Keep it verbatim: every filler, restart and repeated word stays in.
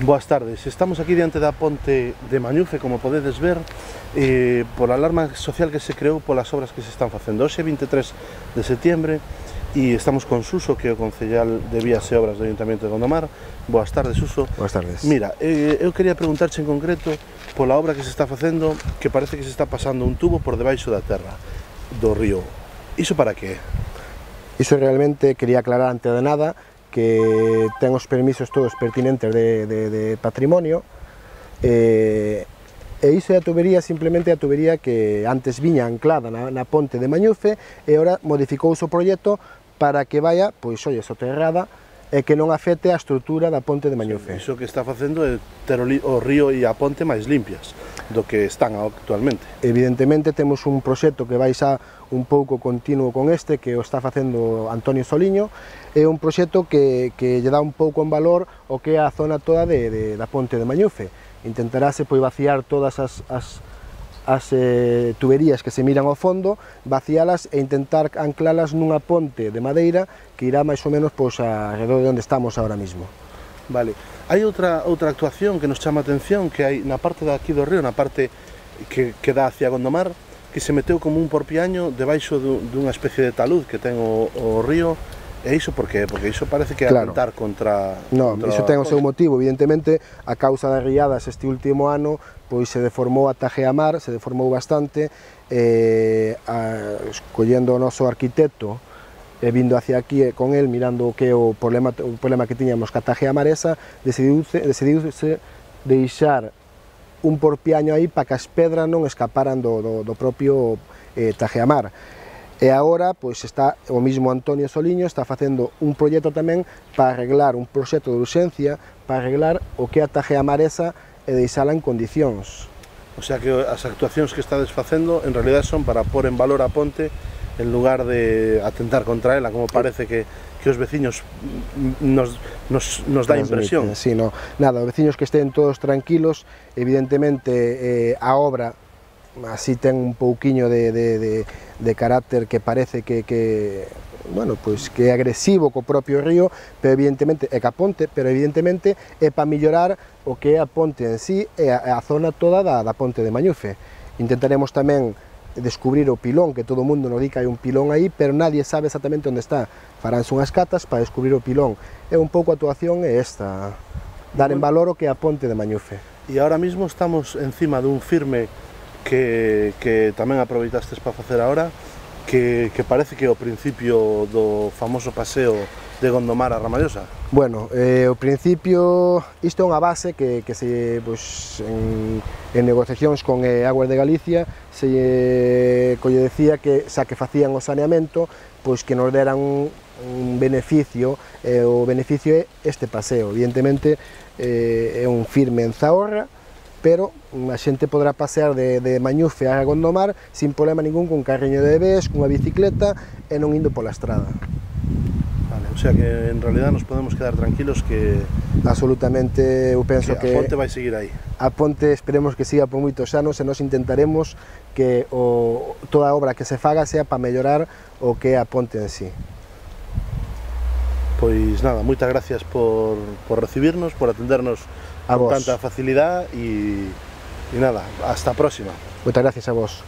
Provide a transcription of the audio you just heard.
Boas tardes, estamos aquí diante da ponte de Mañufe, como podedes ver, eh, pola alarma social que se creou polas obras que se están facendo. Hoxe vinte e tres de setiembre e estamos con Suso, que é o concellal de Vías e Obras do Ayuntamiento de Gondomar. Boas tardes, Suso. Boas tardes. Mira, eh, eu quería preguntarche en concreto pola obra que se está facendo, que parece que se está pasando un tubo por debaixo da terra do río. Iso para que? Iso realmente quería aclarar antes de nada que ten os permisos todos pertinentes de, de, de patrimonio e, e iso é a tubería, simplemente a tubería que antes viña anclada na, na ponte de Mañufe e ora modificouse o proxecto para que vaya, pois, oye, soterrada e que non afecte a estrutura da ponte de Mañufe. Iso que está facendo é ter o río e a ponte máis limpias do que están actualmente. Evidentemente temos un proxecto que vai xa un pouco continuo con este, que o está facendo Antonio Soliño. É un proxecto que, que lle dá un pouco en valor o que é a zona toda de, de, da ponte de Mañufe. Intentarase pois vaciar todas as, as, as eh, tuberías que se miran ao fondo, vacialas e intentar anclalas nunha ponte de madeira que irá máis ou menos pois, alrededor de onde estamos ahora mismo. Vale. Hai outra, outra actuación que nos chama a atención, que hai na parte de aquí do río, na parte que, que dá hacia Gondomar, que se meteu como un porpiaño debaixo dunha especie de talud que ten o, o río. E iso por qué? Porque iso parece que é claro. atentar contra... Non, contra iso ten o seu motivo, evidentemente, a causa das riadas este último ano, pois se deformou a Tajeamar, se deformou bastante, e a, escollendo o noso arquitecto, e vindo hacia aquí con el, mirando o que o problema, o problema que tiñamos ca Tajeamar esa, decidiuse, decidiuse deixar un porpiaño aí para que as pedras non escaparan do, do, do propio eh, Tajeamar. E agora, pois, está o mismo Antonio Soliño, está facendo un proxecto tamén para arreglar, un proxecto de urxencia, para arreglar o que é a Tajeamar esa e deixala en condicións. O sea que as actuacións que estades facendo, en realidad son para pôr en valor a ponte, en lugar de atentar contra ela, como parece que, que os veciños nos, nos, nos dá impresión. Sí, no, nada, os veciños que estén todos tranquilos, evidentemente eh, a obra así ten un pouquiño de, de, de, de carácter que parece que, que, bueno, pues que é agresivo co propio río, pero evidentemente é ca ponte, pero evidentemente é para mellorar o que é a ponte en sí e a, a zona toda da, da ponte de Mañufe. Intentaremos tamén descubrir o pilón, que todo o mundo nos di que hai un pilón aí, pero nadie sabe exactamente onde está. Faránse unhas catas para descubrir o pilón. É un pouco a actuación é esta, dar en valor o que é a ponte de Mañufe. E ahora mismo estamos encima dun firme que, que tamén aproveitastes para facer agora, que, que parece que é o principio do famoso paseo de Gondomar a Ramallosa. Bueno, eh, o principio, isto é unha base que, que se, pues, en, en negociacións con eh, Aguas de Galicia se eh, colle decía que xa que facían o saneamento, pois que nos deran un, un beneficio, eh, o beneficio é este paseo. Evidentemente eh, é un firme en Zahorra, pero a xente podrá pasear de, de Mañufe a Gondomar sin problema ningún, con carriño de bebés, cunha bicicleta e non indo pola estrada. Vale, o sea que en realidad nos podemos quedar tranquilos que... Absolutamente, eu penso que... que a ponte vai seguir aí. A ponte esperemos que siga por moitos anos e nos intentaremos que o, toda a obra que se faga sea para mellorar o que é a ponte en sí. Pois nada, moitas gracias por, por recibirnos, por atendernos a con vos. Tanta facilidad e, e nada, hasta a próxima. Moitas gracias a vos.